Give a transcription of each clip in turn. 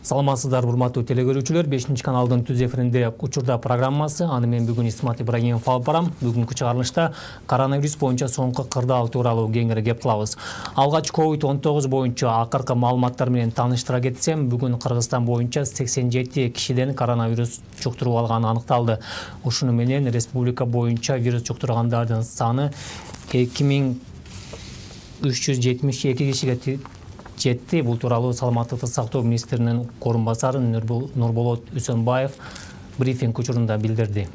Саламатсыздар, урматтуу телекөрүүчүлөр. 5-каналдын түз эфиринде учурда программасы. Аны мен бүгүн Исмат Ибрагимов алып барам. Бүгүнкү чыгарылышта коронавирус боюнча соңку кырдаал тууралуу кеңири кеп кылабыз. Алгач COVID-19 боюнча акыркы маалыматтар менен тааныштыра кетсем, бүгүн Кыргызстан боюнча 87 кишиден коронавирус жуктуруп алганы аныкталды. Ушуну менен республика боюнча вирус жуктургандардын саны 2372 кишиге жетти. Бул тууралуу Саламаттыкты сактоо министринин орун басары Нурболот Үсөнбаев брифинг учурунда билдирди.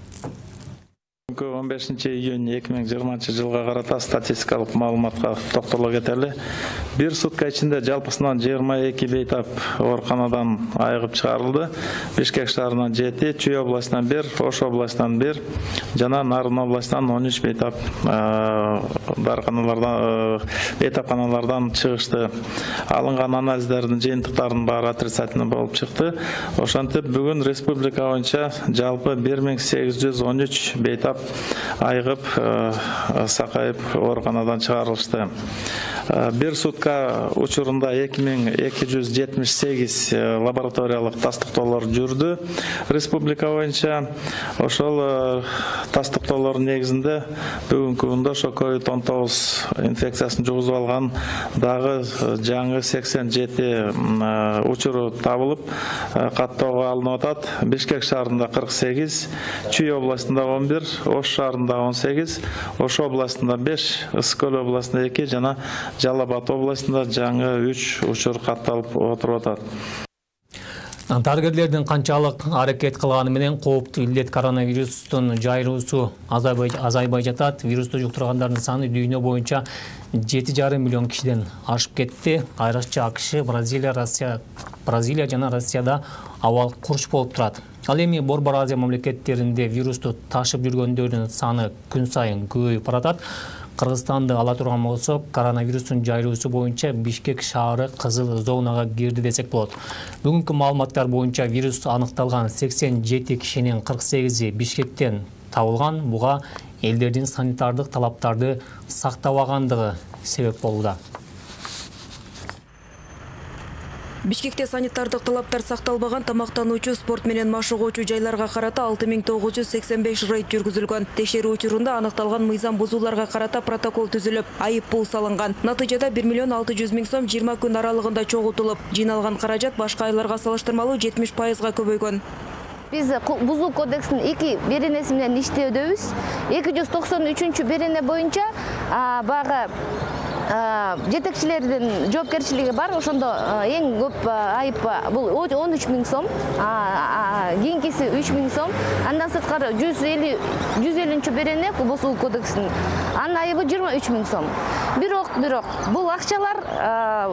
15 июнь 2020 жылга карата статистикалык маалыматка токтоло кетели. Бир сутка ичинде жалпысынан 22 бейтап ооруканадан айыгып чыгарылды. Бишкек шаарынан 7, Чүй областынан 1, Ош областынан 1 жана Нарын областынан 13 бейтап бейтапканалардан чыгышты. Алынган анализдердин жыйынтыктарынын баары отрицательный болуп чыкты. Ошентип бүгүн республика боюнча жалпы 1813 бейтап айыгып, сакайып ооруканадан чыгарылышты. Бир сутка учурунда 2278 лабораториялык тастыктоолор жүрдү. Республика боюнча ошол тастыктоолордун негизинде бүгүнкү күндө ошо COVID-19 инфекциясын жугузуп алган дагы жаңы 87 учуру табылып, каттоого алынып атат. Бишкек шаарында 48, Чүй областында 11, Ош шаарында 18, Ош областында 5, Ысык Көл областында 2 жана Жалал Абад областында жаңы 3 учур катталып отуруп атат. Дарыгерлердин канчалык аракет кылганы менен кооптуу илдет коронавирустун жайылуусу азайбай жатат. Вирусту жуктургандардын саны дүйнө боюнча 7,5 миллион кишиден ашып кетти. Айрыкча АКШ, Бразилия жана Россияда абал курч болуп турат. Ал эми Борбор Азия мамлекеттеринде вирусту ташып жүргөндөрдүн саны күн сайын көбөйүп баратат. Кыргызстанды ала турган болсок, коронавирустун жайылуусу боюнча Бишкек шаары кызыл зонага кирди десек болот. Бүгүнкү маалыматтар боюнча вирус аныкталган 87 кишинин 48-и Бишкектен табылган. Буга элдердин санитардык талаптарды сактабагандыгы себеп болууда. Бишкекте санитардык талаптар сакталбаган тамактануучу, спорт менен машыгуучу жайларга карата 6985 рейд жүргүзүлгөн. Текшерүү учурунда аныкталган мыйзам бузууларга карата протокол түзүлүп, айып пул салынган. Натыйжада 1,6 миллион сом 20 күн аралыгында чогултулуп, жыйналган каражат башка айларга салыштырмалуу 70%га көбөйгөн. Биз бузуу кодексинин 2 беренеси менен иштөөдөбүз. 293 берене боюнча багы жетекчилердин жоопкерчилиги бар. Ошондо эң көп айып бул 13 000 сом, кийинкиси 3 000 сом. Андан сырткары 150 берене бузуу кодексинин анын айыбы 23 000 сом. Бирок бул акчалар,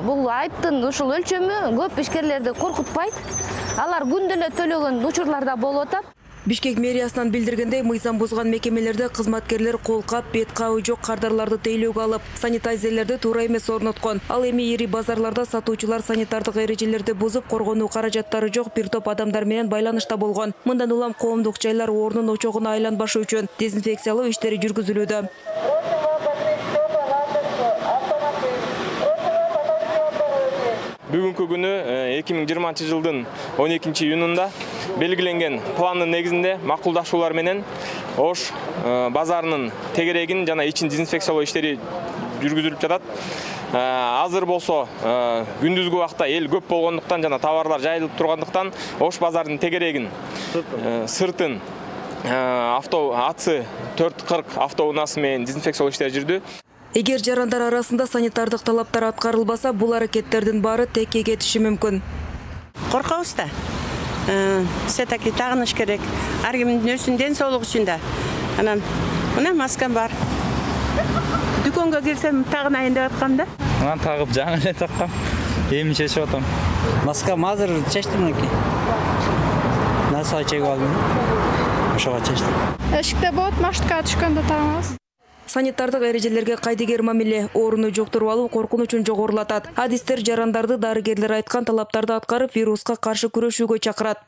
бул айыптын ушул өлчөмү көп ишкерлерди коркутпайт. Алар күндө эле төлөгөн учурларда болуп атат. Бишкек мэриясынан билдиргендей, мыйзам бузган мекемелерде кызматкерлер колкап, бет кабы жок кардарларды тейлөөгө алып, санитайзерлерди туура эмес орноткон. Ал эми ири базарларда сатуучулар санитардык эрежелерди бузуп, коргонуу каражаттары жок бир топ адамдар менен байланышта болгон. Мындан улам коомдук жайлар орнун очогуна айланбашы үчүн дезинфекциялоо иштери жүргүзүлүүдө. Бүгүнкү күнү 2020 жылдын 12 июнунда белгиленген пландын негизинде макулдашуулар менен Ош базарынын тегерегин жана ичин дезинфекциялоо иштери жүргүзүлүп жатат. Азыр болсо күндүзгү убакта эл көп болгондуктан жана товарлар жайылып тургандыктан Ош базарынын тегерегин, сыртын АЦ 440 автоунаасы менен дезинфекциялоо иштери жүрдү. Эгер жарандар арасында санитардык талаптар аткарылбаса, бул аракеттердин баары текке кетиши мүмкүн. Коркобуз да. Все-таки тагыныш керек. Ар кимдин өзүнүн ден соолугу үчүн да. Анан мына маскам бар. Дүкөнгө кирсем тагынайын деп аткам да. Анан тагып жаңы эле таккам. Эми чечип атам. Маскам азыр чечтим экен. Насаа чегип алдым. Ошого чечтим. Эшикте болот, машыкка түшкөндө тагабыз. Санитардык эрежелерге кайдыгер мамиле ооруну жуктуруп алуу коркунучун жогорулатат. Адистер жарандарды дарыгерлер айткан талаптарды аткарып, вируска каршы күрөшүүгө чакырат.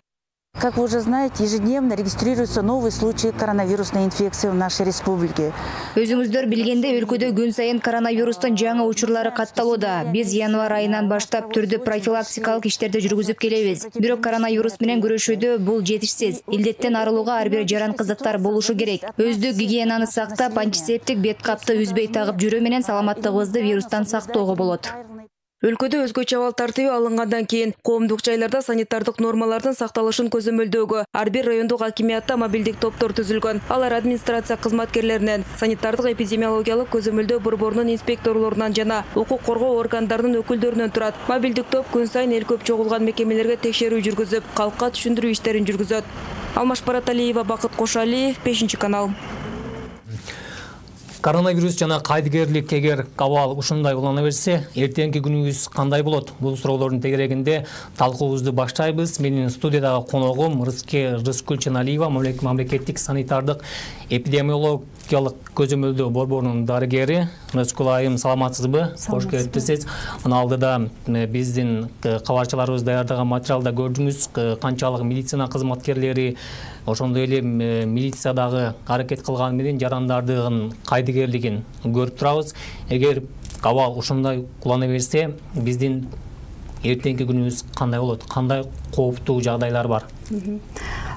Как вы уже знаете, ежедневно регистрируются новые случаи коронавирусной инфекции в нашей республике. Өзүңүздөр билгендей, өлкөдө күн сайын коронавирустун жаңы учурлары катталууда. Биз январь айынан баштап түрдүү профилактикалык иштерди жүргүзүп келебиз. Бирок коронавирус менен күрөшүүдө бул жетишсиз. Илдеттен арылууга ар бир жаранкыздыктар болушу керек. Өздүк гигиенаны сактап, антисептик бет капты үзбөй тагып жүрүү менен саламаттыгыбызды вирустан сактоого болот. Өлкөдө өзгөчө абал тартиби алынгандан кийин коомдук жайларда санитардык нормалардын сакталышын көзөмөлдөөгө ар бир райондук акимиятта мобилдик топтор түзүлгөн. Алар администрация кызматкерлеринен, санитардык эпидемиологиялык көзөмөлдөө борборунун инспекторлорунан жана укук коргоо органдарынын өкүлдөрүнөн турат. Мобилдик топ күн сайын эл көп чогулган мекемелерге текшерүү жүргүзүп, калкка түшүндүрүү иштерин жүргүзөт. Алмаш Бараталиева, Бакыт Кошалиев, 5-канал. Коронавирус жана кайдыгерлик эгер абал ушундай улана берсе, эртеңки күнүбүз кандай болот? Бул суроолордун тегерегинде талкуубузду баштайбыз. Менин студиядагы коногум Рыскүл Ченалиева, мамлекеттик санитардык эпидемиологиялык көзөмөлдөө борборунун дарыгери. Рыскүл айым, саламатсызбы? Кош келипсиз. Мына алдыда биздин кабарчыларыбыз даярдаган материалда көрдүңүз канчалык медицина кызматкерлери, ошондой эле милициядагы аракет кылганы менен жарандардын кайдыгерлигин көрүп турабыз. Эгер абал ушундай улана берсе, биздин эртеңки күнүбүз кандай болот? Кандай кооптуу жагдайлар бар?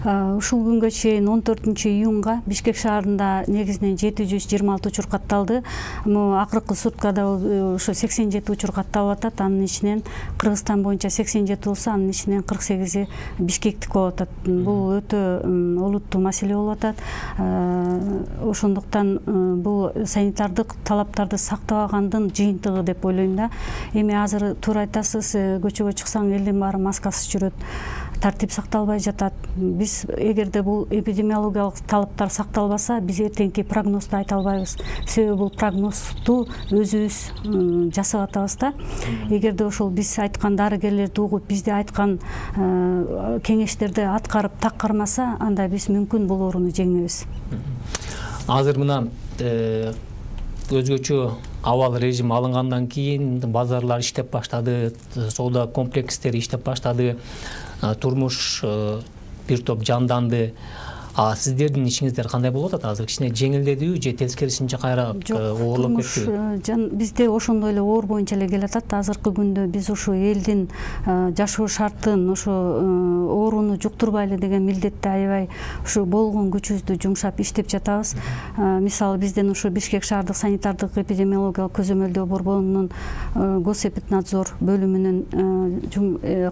Ушул күнгө чейин 14-июнга Бишкек шаарында негизинен 726 учур катталды. Акыркы суткада ошо 87 учур катталып атат. Анын ичинен Кыргызстан боюнча 87 болсо, анын ичинен 48 Бишкектик болуп атат. Бул өтө олуттуу маселе болуп атат. Ошондуктан бул санитардык талаптарды сактабагандын жыйынтыгы деп ойлойм да. Эми азыр туура айтасыз, көчөгө чыксаң элдин баары маскасыз жүрөт. Тартип сакталбай жатат. Биз эгерде бул эпидемиологиялык талаптар сакталбаса, биз эртеңки прогнозду айта албайбыз. Себеби бул прогнозду өзүбүз жасап атабыз да. Эгерде ошол биз айткан дарыгерлерди угуп, бизде айткан кеңештерди аткарып таккармаса, анда биз мүмкүн бул ооруну жеңебиз. Азыр мына өзгөчө абал режим алынгандан кийин базарлар иштеп баштады, соода комплекстери иштеп баштады, турмуш бир топ жанданды. Сиздердин ишиңиздер кандай болуп атат? Азыр кичине жеңилдедиби же тескерисинче кайра оорлоп кеттиби? Бизде ошондой эле оор боюнча эле келатат. Азыркы күндө биз ушу элдин жашоо шартын, ошо ооруну жуктурбайлы деген милдетти аябай ушу болгон күчүбүздү жумшап иштеп жатабыз. Мисалы бизден ушу Бишкек шаардык санитардык эпидемиологиялык көзөмөлдөө борборунун госэпиднадзор бөлүмүнүн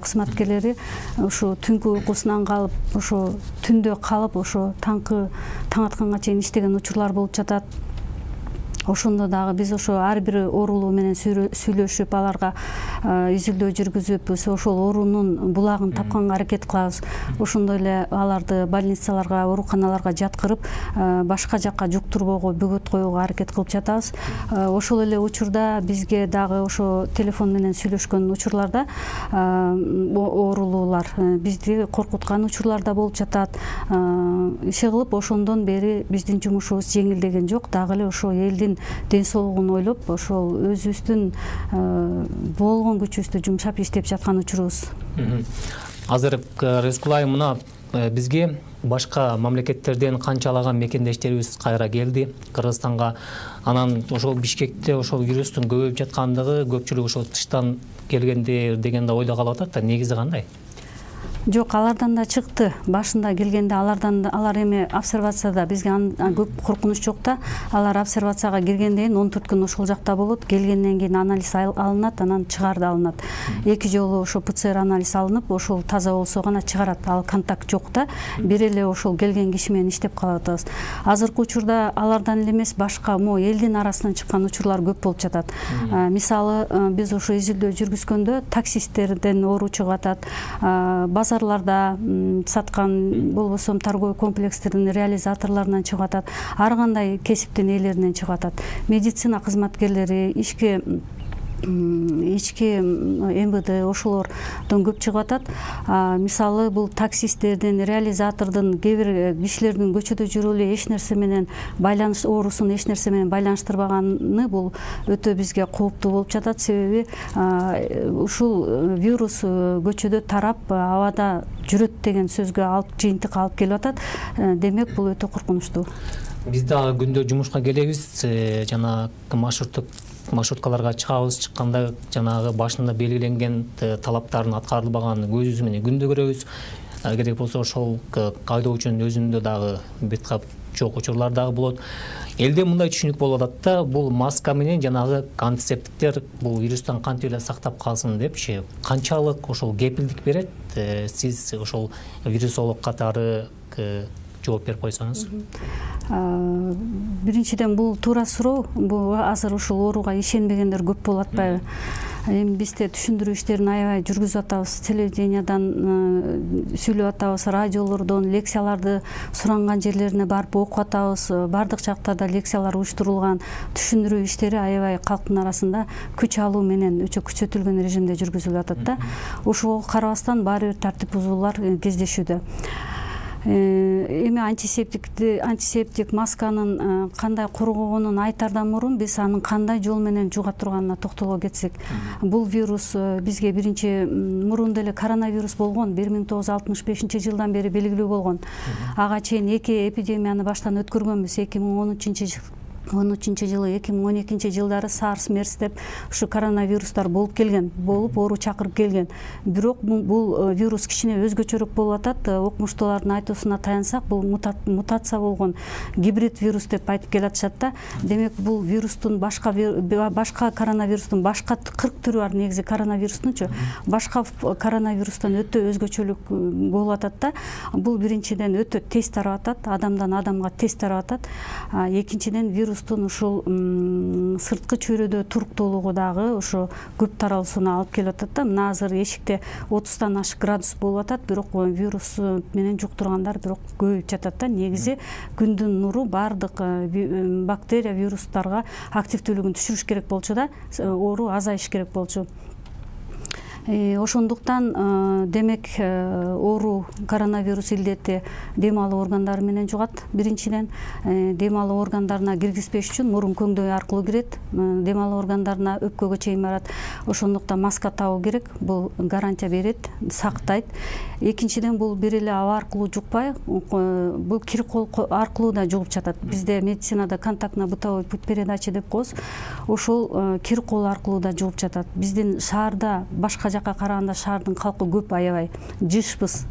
кызматкерлери ушу түнкү уйкусунан калып, ошо түндө калып, ошо таң атканга чейин иштеген учурлар болуп жатат. Ошондо дагы биз ошо ар бир оорулуу менен сүйлөшүп, аларга изилдөө жүргүзүп, ошол оорунун булагын тапканга аракет кылабыз. Ошондой эле аларды больницаларга, ооруканаларга жаткырып, башка жакка жуктурбоого, бөгөт коюуга аракет кылып жатабыз. Ошол эле учурда бизге дагы ошо телефон менен сүйлөшкөн учурларда оорулуулар бизди коркуткан учурлар да болуп жатат. Иши кылып, ошондон бери биздин жумушубуз жеңилдеген жок. Дагы эле ошо элдин ден соолугун ойлоп, ошол өзүбүздүн болгон күчүбүздү жумшап иштеп жаткан учурубуз. Азыр Рыскүл айым, мына бизге башка мамлекеттерден канчалаган мекендештерибиз кайра келди Кыргызстанга. Анан ошол Бишкекте ошол вирустун көбөйүп жаткандыгы, көпчүлүк ошол тыштан келгендер деген да ойдо калып атат да, негизи кандай? Жок, алардан да чыкты. Башында келгенде алар эми обсервацияда, бизге көп коркунуч жок да. Алар обсервацияга киргенден кийин 14 күн ошол жакта болот. Келгенден кийин анализ алынат, анан чыгарды алынат. 2 жолу ошо ПЦР анализ алынып, ошол таза болсо гана чыгарат. Ал контакт жок да. Бир эле ошол келген киши менен иштеп калып атабыз. Азыркы учурда алардан эле эмес, башка элдин арасынан чыккан учурлар көп болуп жатат. Мисалы, биз ошо изилдөө жүргүзгөндө таксисттерден оору чыгып атат. Базарларда саткан, болбосо торговый комплекстердин реализаторлорунан чыгып атат. Ар кандай кесиптин ээлеринен чыгып атат. Медицина кызматкерлери, ишке ички МВД ошолордон көп чыгып атат. Мисалы бул таксисттердин, реализатордун, кээ бир кишилердин көчөдө жүрүп эле эч нерсе менен байланыш оорусун эч нерсе менен байланыштырбаганы бул өтө бизге кооптуу болуп жатат. Себеби ушул вирус көчөдө тарап абада жүрөт деген сөзгө жыйынтык алып келип атат. Демек бул өтө коркунучтуу. Биз дагы күндө жумушка келебиз, жана маршруткаларга чыгабыз. Чыкканда жанагы башында белгиленген талаптардын аткарылбаганын көзүбүз менен күндө көрөбүз. Керек болсо ошол айдоочунун өзүндө дагы бет кап жок учурлар дагы болот. Элде мындай түшүнүк болуп атат да, бул маска менен жанагы антисептиктер бул вирустан кантип эле сактап калсын депчи, канчалык ошол кепилдик берет? Сиз ошол вирусолог катары жооп берип койсоңуз. Биринчиден бул туура суроо. Бул азыр ушул ооруга ишенбегендер көп болуп атпайбы? Эми биз да түшүндүрүү иштерин аябай жүргүзүп атабыз. Телевидениядан сүйлөп атабыз, радиолордон лекцияларды суранган жерлерине барып окуп атабыз. Бардык жактарда лекциялар уюштурулган. Түшүндүрүү иштери аябай калктын арасында күч алуу менен өчө күчөтүлгөн режимде жүргүзүлүп атат да. Ошого карабастан баары бир тартип бузуулар кездешүүдө. Эми антисептик масканын кандай коргогонун айтардан мурун биз анын кандай жол менен жуга турганына токтоло кетсек. Бул вирус бизге биринчи мурун деле коронавирус болгон, 1965-жылдан бери белгилүү болгон. Ага чейин эки эпидемияны баштан өткөргөнбүз. 2013-жылы, 2012-жылдары SARS, MERS деп ушу коронавирустар болуп келген, оору чакырып келген. Бирок бул вирус кичине өзгөчөрөөк болуп атат. Окумуштуулардын айтуусуна таянсак, бул мутация болгон гибрид вирус деп айтып келатышат да. Демек бул вирустун башка коронавирустун башка 40 түрү бар негизи коронавирустунчу. Башка коронавирустан өтө өзгөчөлүк болуп атат да. Бул биринчиден өтө тез тарап атат, адамдан адамга тез тарап атат. Экинчиден вирустун ушул сырткы чөйрөдө туруктуулугу дагы ошо көп таралуусуна алып келип атат да. Мына азыр эшикте 30-тан ашык градус болуп атат, бирок вирус менен жуктургандар бирок көбөйүп жатат да. Негизи күндүн нуру бардык бактерия, вирустарга активдүүлүгүн түшүрүш керек болчу да, оору азайыш керек болчу. Ошондуктан демек оору коронавирус илдети дем алуу органдары менен жугат. Биринчиден дем алуу органдарына киргизбеш үчүн мурун көңдөй аркылуу кирет. Дем алуу органдарына өпкөгө чейин барат. Ошондуктан маска табуу керек. Бул гарантия берет, сактайт. Экинчиден бул бир эле аба аркылуу жукпай, бул кир кол аркылуу да жугуп жатат. Бизде медицинада контактно-бытовой путь передачи деп коебуз. Ошол кир кол аркылуу да жугуп жатат. Биздин шаарда башка жакка караганда шаардын калкы көп, аябай жышпыз.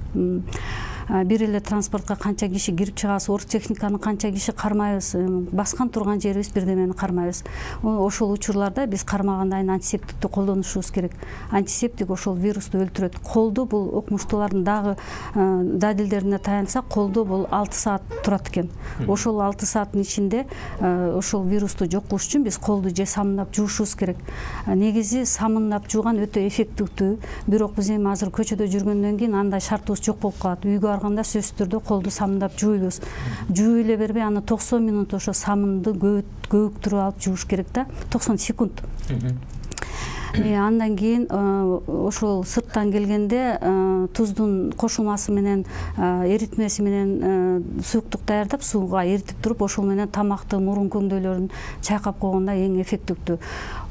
Бир эле транспортко канча киши кирип чыгабыз, оргтехниканы канча киши кармайбыз, баскан турган жерибиз бирдемени кармайбыз. Ошол учурларда биз кармагандайын антисептикти колдонушубуз керек. Антисептик ошол вирусту өлтүрөт. Колдо бул окумуштуулардын дагы далилдерине таянсак, колдо бул 6 саат турат экен. Ошол 6 сааттын ичинде ошол вирусту жок кылыш үчүн биз колду же самындап жуушубуз керек. Негизи самындап жууган өтө эффективдүү, бирок биз эми азыр көчөдө жүргөндөн кийин андай шартыбыз жок болуп калат. Үйгө барганда сөзсүз түрдө колду самындап жууйбуз. Жууп эле бербей, аны 90 минут ошо самынды көөктүрүп алып жууш керек да, 90 секунд. Андан кийин ошол сырттан келгенде туздун кошулмасы менен, эритмеси менен сууктук даярдап, сууга эритип туруп, ошол менен тамакты, мурун көңдөйлөрүн чайкап койгондо эң эффективдүү.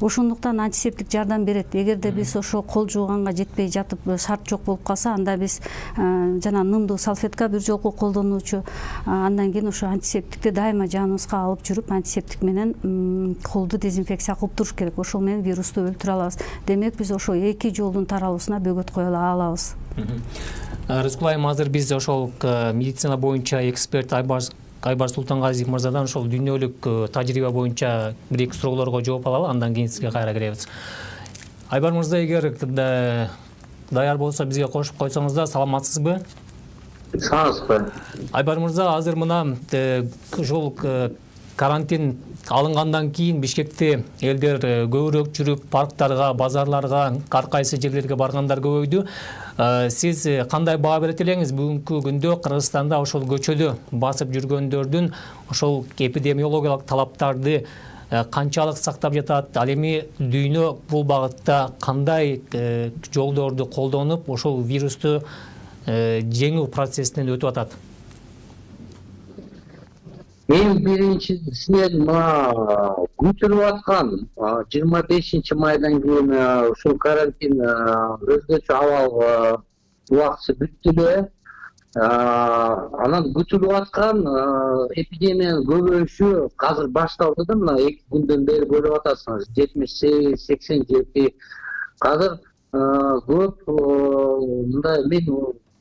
Ошондуктан антисептик жардам берет. Эгерде биз ошо кол жууганга жетпей жатып, шарт жок болуп калса, анда биз жана нымдуу салфетка бир жолку колдонуучу, андан кийин ошо антисептикти дайыма жаныбызга алып жүрүп, антисептик менен колду дезинфекция кылып туруш керек. Ошол менен вирусту өлтүрө алабыз. Демек биз ошо эки жолдун таралуусуна бөгөт кое алабыз. Рыскул айым, азыр биз ошол медицина боюнча эксперт Айбар Султангазиев мырзадан ошол дүйнөлүк тажрыйба боюнча бир-эки суроолорго жооп алалы, андан кийин сизге кайра киребиз. Айбар мырза, эгер даяр болсо бизге кошуп койсоңуз да, саламатсызбы? Саламатсызбы? Айбар мырза, азыр мына ошол карантин алынгандан кийин Бишкекте элдер көбүрөөк жүрүп, парктарга, базарларга, ар кайсы жерлерге баргандар көбөйдү. Сиз кандай баа берет элеңиз? Бүгүнкү күндө Кыргызстанда ошол көчөдө басып жүргөндөрдүн ошол эпидемиологиялык талаптарды канчалык сактап жатат? Ал эми дүйнө бул багытта кандай жолдорду колдонуп ошол вирусту жеңүү процессинен өтүп атат? Эң биринчисинен күтүлүп аткан 25 майдан кийин ушул карантин өзгөчө абал убактысы бүттү эле. Анан күтүлүп аткан эпидемиянын көбөйүшү азыр башталды да, мына 2 күндөн бери көрүп атасыңыз, 78-87. Азыр көп мындай мен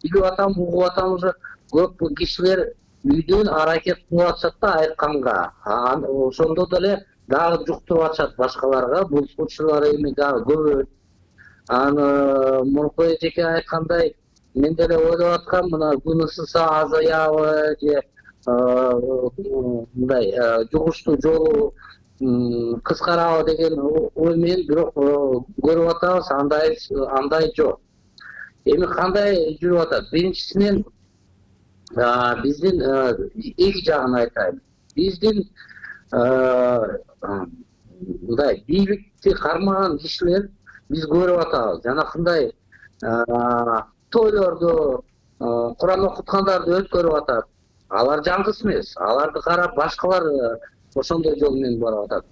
билип атам, угуп атам, уже көп кишилер үйдөн аракет кылып атышат да айтканга. Ошондо деле дагы жуктуруп атышат башкаларга. Бул случайлар эми дагы көбөйөт. Аны мурунку эжеке айткандай, мен деле ойлоп аткам, мына күн ысыса азаябы же мындай жугуштуу жолу кыскарабы деген ой менен, бирок көрүп атабыз андай жок. Эми кандай жүрүп атат? Биринчисинен биздин эки жагын айтайын. Биздин мындай бийликти кармаган кишилер биз көрүп атабыз. Жанакындай тойлорду, Куран окуткандарды өткөрүп атат. Алар жаңгыс эмес. Аларды карап башкалар ошондой жол менен барып атат.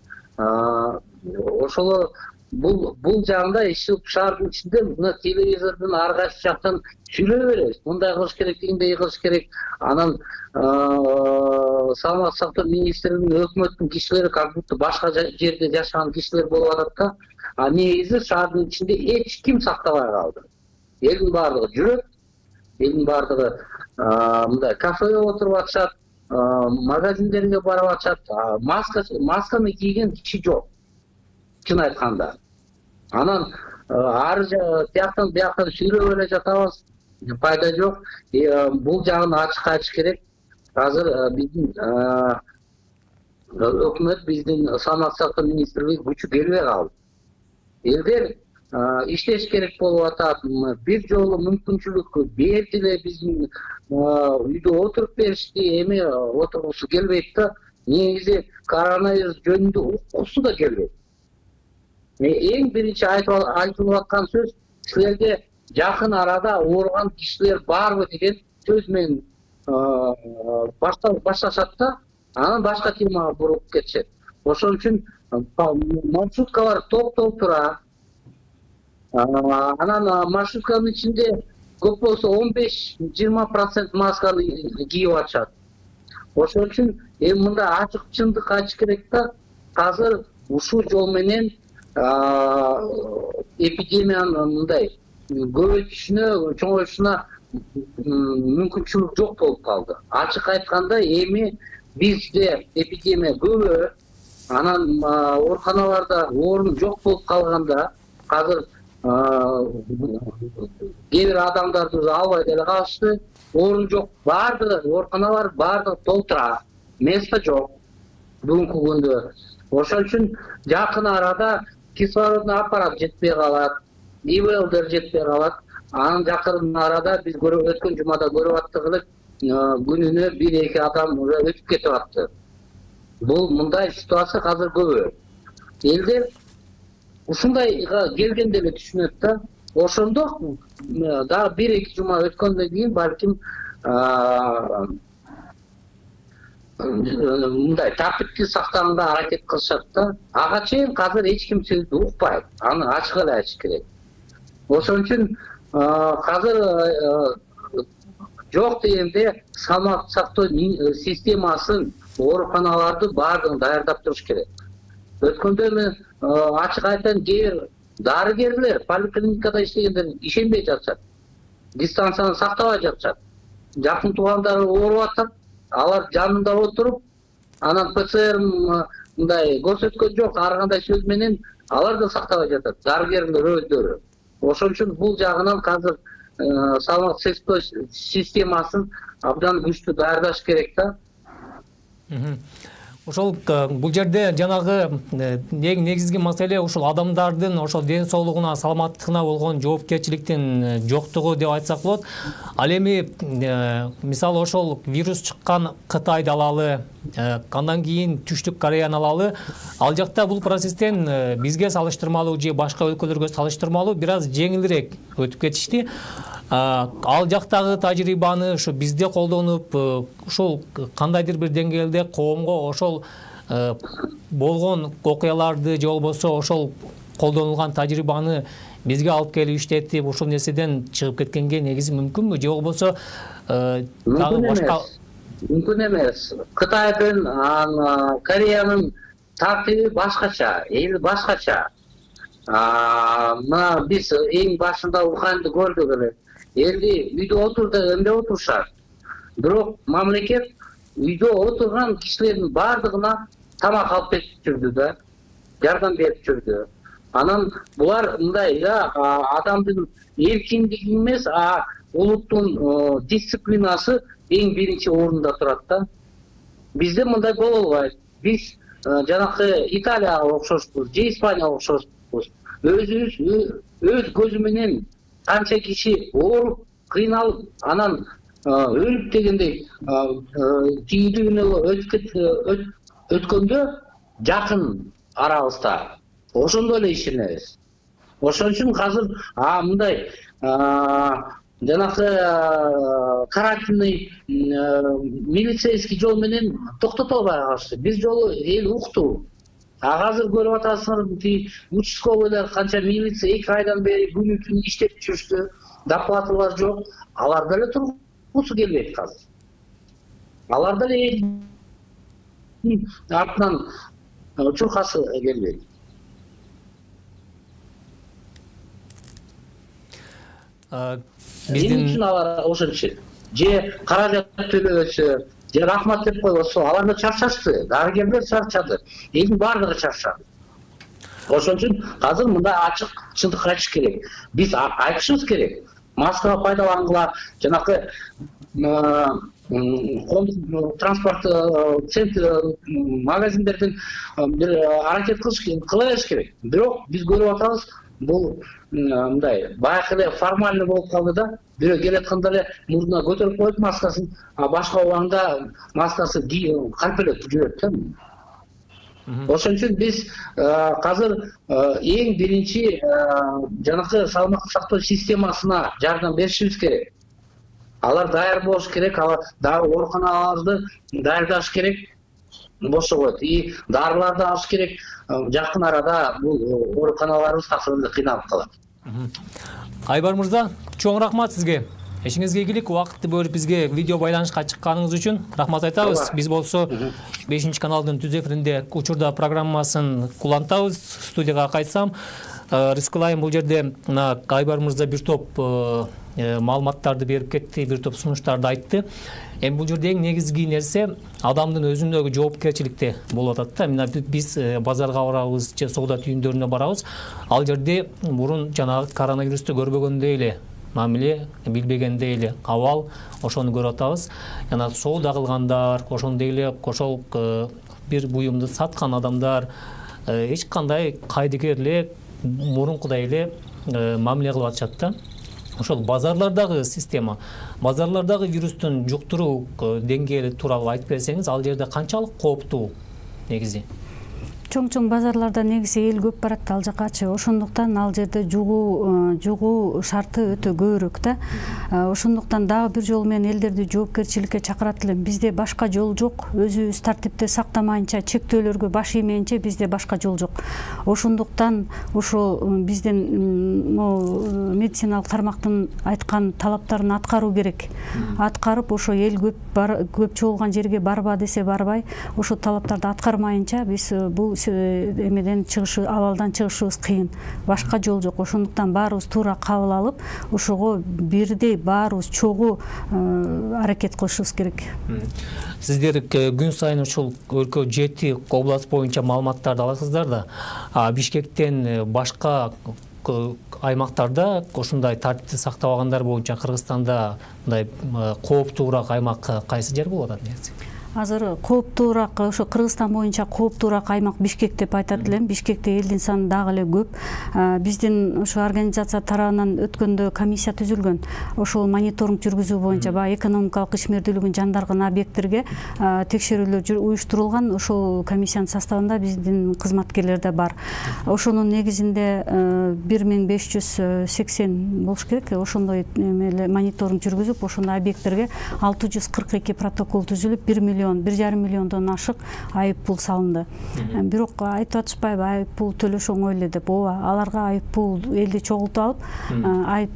Ошол бул жагында иши шаардын ичинде мына телевизордун ар кайсы жактан сүйлөй беребиз. Мындай кылыш керек, тигиндей кылыш керек. Анан саламаттык сактоо министрлигинин, өкмөттүн кишилери как будто башка жерде жашаган кишилер болуп атат да. А негизи шаардын ичинде эч ким сактабай калды. Элдин баардыгы жүрөт, элдин баардыгы мындай кафеге отуруп атышат, магазиндерге барып атышат. Масканы кийген киши жок, чын айтканда. Анан ар жактан бияктан сүйлөп эле жатабыз, пайда жок. Бул жагын ачык айтыш керек. Азыр биздин өкмөт, биздин саламаттык сактоо министрлиги күчү келбей калды. Элдер иштеш керек болуп атат. Бир жолу мүмкүнчүлүк берди эле, биздин үйдө отуруп беришти, эми отургусу келбейт да. Негизи коронавирус жөнүндө уккусу да келбейт. Эң биринчи айтылып аткан сөз, силерге жакын арада ооруган кишилер барбы деген сөз менен башташат да, анан башка темага буруп кетишет. Ошон үчүн маршруткалар топ-топ тура. Анан маршрутканын ичинде көп болсо 15-20% масканы кийип атышат. Ошон үчүн эми мындай ачык чындык айтыш керек да, азыр ушул жол менен эпидемиянын мындай көбөйтүшүнө, чоңоюшуна мүмкүнчүлүк жок болуп калды. Ачык айтканда эми бизде эпидемия көбөйөт, анан ооруканаларда орун жок болуп калганда, азыр кээ бир адамдарды албай деле калышты, орун жок, баардыгы ооруканалар баардыгы толтура, место жок бүгүнкү күндө. Ошон үчүн жакын арада кислородный аппарат жетпей калат, ИВЛдер жетпей калат. Анын жакын арада биз өткөн жумада көрүп аттык элек, күнүнө 1-2 адам уже өтүп кетип атты. Бул мындай ситуация азыр көбөйөт. Элдер ушундайга келгенде эле түшүнөт да. Ошондо дагы 1-2 жума өткөндөн кийин балким мындай тартипти сактаганга аракет кылышат да. Ага чейин азыр эч ким сөздү укпайт. Аны ачык эле айтыш керек. Ошон үчүн азыр жок дегенде саламаттык сактоо системасын, ооруканаларды баардыгын даярдап туруш керек. Өткөндө мен ачык айтайын, кээ бир дарыгерлер поликлиникада иштегендер ишенбей жатышат. Дистанцияны сактабай жатышат. Жакын туугандары ооруп атат, алар жанында отуруп, анан ПЦР мындай көрсөткөн жок, ар кандай сөз менен алар да сактабай жатат, дарыгерлер өздөрү. Ошон үчүн бул жагынан азыр саламаттык сактоо системасын абдан күчтүү даярдаш керек да. Ошол бул жерде жанагы негизги маселе ушул адамдардын ошол ден соолугуна, саламаттыгына болгон жоопкерчиликтин жоктугу деп айтсак болот. Ал эми мисалы ошол вирус чыккан Кытайды алалы, андан кийин Түштүк Кореяны алалы, ал жакта бул процесстен бизге салыштырмалуу же башка өлкөлөргө салыштырмалуу бир аз жеңилирээк өтүп кетишти. Ал жактагы тажрыйбаны ушу бизде колдонуп, ушул кандайдыр бир деңгээлде коомго ошол болгон окуяларды же болбосо ошол колдонулган тажрыйбаны бизге алып келип иштетип, ушул нерседен чыгып кеткенге негизи мүмкүнбү же болбосо дагы башка? Мүмкүн эмес. Кытайдын, Кореянын тартиби башкача, эли башкача. Мына биз эң башында Уханьды көрдүк эле. Элди үйдө отур деп эмне отурушат. Бирок мамлекет үйдө отурган кишилердин бардыгына тамак алып берип жүрдү да, жардам берип жүрдү. Анан булар мындай да адамдын эркиндиги эмес, улуттун дисциплинасы эң биринчи орунда турат да. Бизде мындай боло албайт. Биз жанакы Италияга окшошпуз, же Испанияга окшошпуз. Өз көзү менен канча киши ооруп, кыйналып, анан өлүп дегендей түйүндүгүнө өткөндө жакын арабызда ошондой эле ишенебиз. Ошон үчүн азыр мындай жанакы карантинный милицейский жол менен токтото албай калышты. Биз жолу эл укту. Азыр көрүп атасыңар, участковыйлар канча милиция 2 айдан бери күнү-түнү иштеп жүрүштү, доплаталар жок. Алар деле тургусу келбейт азыр. Алар деле артынан чуркасы келбейт. Эмне үчүн алар ошончо? Же каражат төлөбөсө, же рахмат деп койбосо, алар да чарчашты, дарыгерлер чарчады, элдин баардыгы чарчады. Ошон үчүн азыр мындай ачык чындыкты айтыш керек. Биз айтышыбыз керек. Маска пайдалангыла, жанакы транспорт магазиндерден бир аракет кылыш керек. Бирок биз көрүп атабыз, бул мындай баягы эле формальный болуп калды да. Бирөө келатканда эле мурдуна көтөрүп коет маскасын, башка убагында маскасы карпелеп жүрөт да. Ошон үчүн биз азыр эң биринчи жанакы саламаттык сактоо системасына жардам беришибиз керек. Алар даяр болуш керек, алар дагы ооруканаларды даярдаш керек. Бошогот. И дарыларды алыш керек. Жакын арада бул ооруканаларыбыз такыр эле кыйналып калат. Айбар мырза, чоң рахмат сизге. Эшиңизге ийгилик, убакытты бөлүп бизге видео байланышка чыкканыңыз үчүн рахмат айтабыз. Биз болсо 5-каналдын түз эфиринде учурда программасын кулантабыз. Студияга кайтсам, рискылайм, бул жерде Айбар мырза бир топ маалыматтарды берип кетти, бир топ сунуштарды айтты. Эми бул жерде эң негизги нерсе адамдын өзүндөгү жоопкерчиликте болуп атат да. Мына биз базарга барабыз, же соода түйүндөрүнө барабыз. Ал жерде мурун жанагы коронавирусту көрбөгөндөй эле мамиле, билбегендей эле абал, ошону көрүп атабыз. Жана соода кылгандар, ошондой эле ошол бир буюмду саткан адамдар эч кандай кайдыгер эле мурункудай эле мамиле кылып атышат да. Ошол базарлардагы система, базарлардагы вирустун жуктуруу деңгээли тууралуу айтып берсеңиз, ал жерде канчалык кооптуу негизи? Чоң базарларда негизи эл көп барат ал жакачы. Ошондуктан ал жерде жугуу шарты өтө көбүрөөк да. Ошондуктан дагы бир жол менен элдерди жоопкерчиликке чакырат элем. Бизде башка жол жок. Өзүбүз тартипти сактамайынча, чектөөлөргө баш иймейинче бизде башка жол жок. Ошондуктан ошо биздин медициналык тармактын айткан талаптарын аткаруу керек. Аткарып, ошо эл көп чогулган жерге барба десе барбай, ошо талаптарды аткармайынча биз бул эмеден абалдан чыгышыбыз кыйын. Башка жол жок. Ошондуктан баарыбыз туура кабыл алып, ошого бирдей баарыбыз чогуу аракет кылышыбыз керек. Сиздер күн сайын ушул өлкө 7 област боюнча маалыматтарды аласыздар да. Бишкектен башка аймактарда ошондой тартипти сактабагандар боюнча Кыргызстанда мындай кооптуураак аймак кайсы жер болот негизи? азыр кооптуураак ошо Кыргызстан боюнча кооптуураак аймак Бишкек деп айтат элем. Бишкекте элдин саны дагы эле көп. Биздин ошо организация тарабынан өткөндө комиссия түзүлгөн. Ошол мониторинг жүргүзүү боюнча баягы экономикалык ишмердүүлүгүн жандарган объекттерге текшерүүлөр уюштурулган. Ошол комиссиянын составында биздин кызматкерлер да бар. Ошонун негизинде 1580 болуш керек. Ошондой мониторинг жүргүзүп, ошондой объекттерге 642 протокол түзүлүп, 1,5 миллиондон ашык айып пул салынды. Бирок айтып атышпайбы, айып пул төлөш оңой эле деп. Ооба, аларга айып пул элди чогултуп алып, айып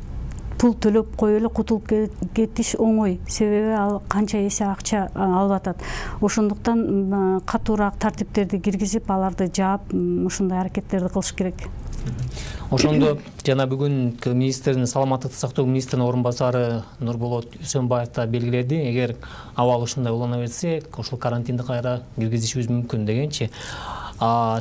пул төлөп коюп эле кутулуп кетиш оңой. Себеби ал канча эсе акча алып атат. Ошондуктан катуураак тартиптерди киргизип, аларды жаап, ушундай аракеттерди кылыш керек. Ошондо жана бүгүн министрдин саламаттыкты сактоо министринин орун басары Нурболот Үсөнбаев да белгиледи, эгер абал ушундай улана берсе, ошол карантинди кайра киргизишибиз мүмкүн дегенчи.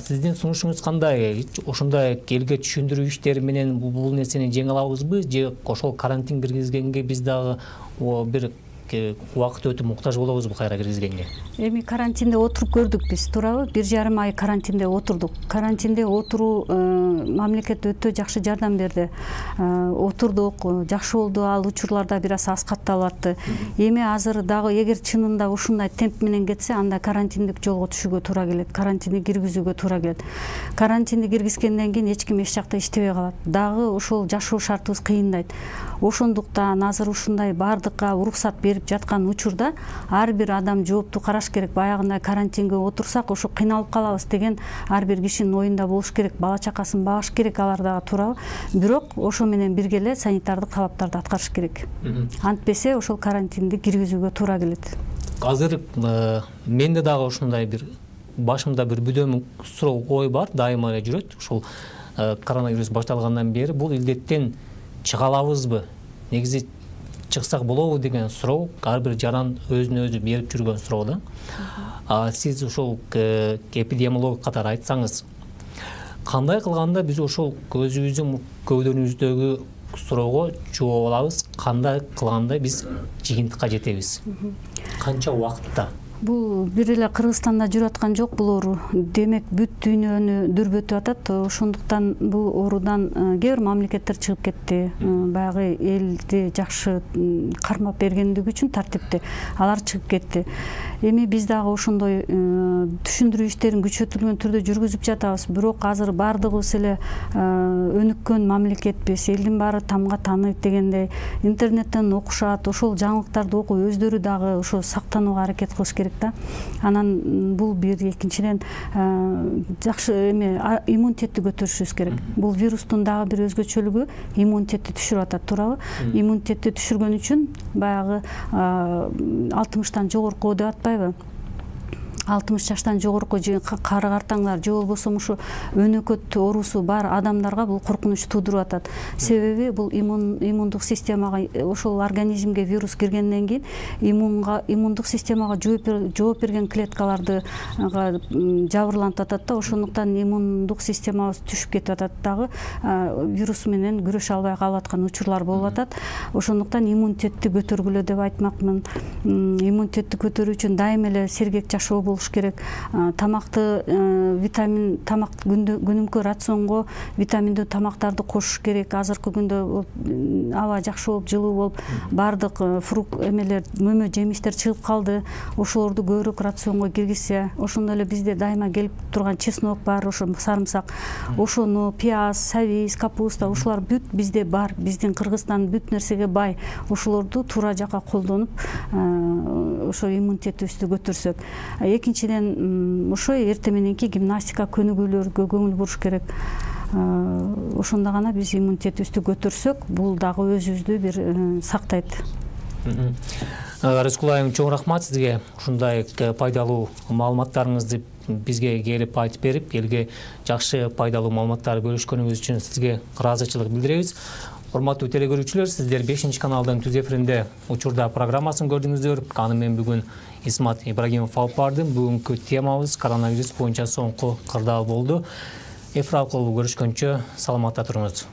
Сиздин сунушуңуз кандай? Ошондой элге түшүндүрүү иштери менен бул нерсени жеңе алабызбы, же ошол карантин киргизгенге биз дагы бир убакыт өтүп муктаж болобузбу кайра киргизгенге? Эми карантинде отуруп көрдүк биз, туурабы? 1,5 ай карантинде отурдук. Карантинде отуруу мамлекет өтө жакшы жардам берди. Отурдук, жакшы болду, ал учурларда бир аз катталып атты. Эми азыр дагы эгер чынында ушундай темп менен кетсе, анда карантиндик жолго түшүүгө туура келет, карантинди киргизүүгө туура келет. Карантинди киргизгенден кийин эч ким эч жакта иштебей калат. Дагы ошол жашоо шартыбыз кыйындайт. Ошондуктан азыр ушундай бардыкка уруксат берип жаткан учурда ар бир адам жоопту караш керек. Баягындай карантинге отурсак, ошо кыйналып калабыз деген ар бир кишинин оюнда болуш керек. Бала чакасын багыш керек, алар дагы туурабы? Бирок ошо менен бирге эле санитардык талаптарды аткарыш керек. Антпесе ошол карантинди киргизүүгө туура келет. Азыр менде дагы ушундай бир башымда бир бүдөм суроо ой бар, дайыма эле жүрөт. Ушул коронавирус башталгандан бери бул илдеттен чыга алабызбы? Негизи чыксак болобу деген суроо ар бир жаран өзүнө өзү берип жүргөн суроо да. Сиз ошол эпидемиолог катары айтсаңыз, кандай кылганда биз ошол өзүбүздүн көйдөнүбүздөгү суроого жооп алабыз, кандай кылганда биз жыйынтыкка жетебиз? Канча убакытта? Бул бир эле Кыргызстанда жүрүп аткан жок бул оору. Демек бүт дүйнөнү дүрбөтүп атат. Ошондуктан бул оорудан кээ бир мамлекеттер чыгып кетти. Баягы элди жакшы кармап бергендиги үчүн тартипти. Алар чыгып кетти. Эми биз дагы ошондой түшүндүрүү иштерин күчөтүлгөн түрдө жүргүзүп жатабыз. Бирок азыр бардыгыбыз эле өнүккөн мамлекетпиз. Элдин баары тамга тааныйт дегендей интернеттен окушат. Ошол жаңылыктарды окуп өздөрү дагы ошо сактанууга аракет кылыш керек. Анан бул бир, экинчиден жакшы иммунитетти көтөрүшүбүз керек. Бул вирустун дагы бир өзгөчөлүгү иммунитетти түшүрүп атат, туурабы? Иммунитетти түшүргөн үчүн баягы 60-тан жогорку деп атпайбы? 60 жаштан жогорку кары картаңдар же болбосо ушу өнөкөт оорусу бар адамдарга бул коркунуч туудуруп атат. Себеби бул иммундук системага, ошол организмге вирус киргенден кийин иммундук системага жооп берген клеткаларды жабырлантып атат да. Ошондуктан иммундук системабыз түшүп кетип атат, дагы вирус менен күрөшө албай калып аткан учурлар болуп атат. Ошондуктан иммунитетти көтөргүлө деп айтмакмын. Иммунитетти көтөрүү үчүн дайыма эле сергек жашоо болуш керек. Тамакты тамак күнүмкө рационго витаминдүү тамактарды кошуш керек. Азыркы күндө аба жакшы болуп, жылуу болуп, бардык фрукт мөмө жемиштер чыгып калды. Ошолорду көбүрөөк рационго киргизсе, ошондой эле бизде дайыма келип турган чеснок бар, ошо сарымсак, ошону пияз, сабиз, капуста, ошолар бүт бизде бар. Биздин Кыргызстан бүт нерсеге бай. Ошолорду туура жакка колдонуп, ошо иммунитетибизди көтөрсөк. Экинчиден, ошо эрте мененки гимнастика, көнүгүүлөргө көңүл буруш керек. Ошондо гана биз иммунитетибизди көтөрсөк, бул дагы өзүбүздү бир сактайт. Рыскул айым, чоң рахмат сизге. Ушундай пайдалуу маалыматтарыңызды бизге келип айтып берип, элге жакшы пайдалуу маалыматтар бөлүшкөнүңүз үчүн сизге ыраазычылык билдиребиз. Урматтуу телекөрүүчүлөр, сиздер 5-каналдын түз эфиринде учурда программасын көрдүңүздөр. Аны мен бүгүн Исмат Ибрагимов алып бардым. Бүгүнкү темабыз коронавирус боюнча соңку кырдаал болду. Эфир аркылуу көрүшкөнчө саламатта туруңуз.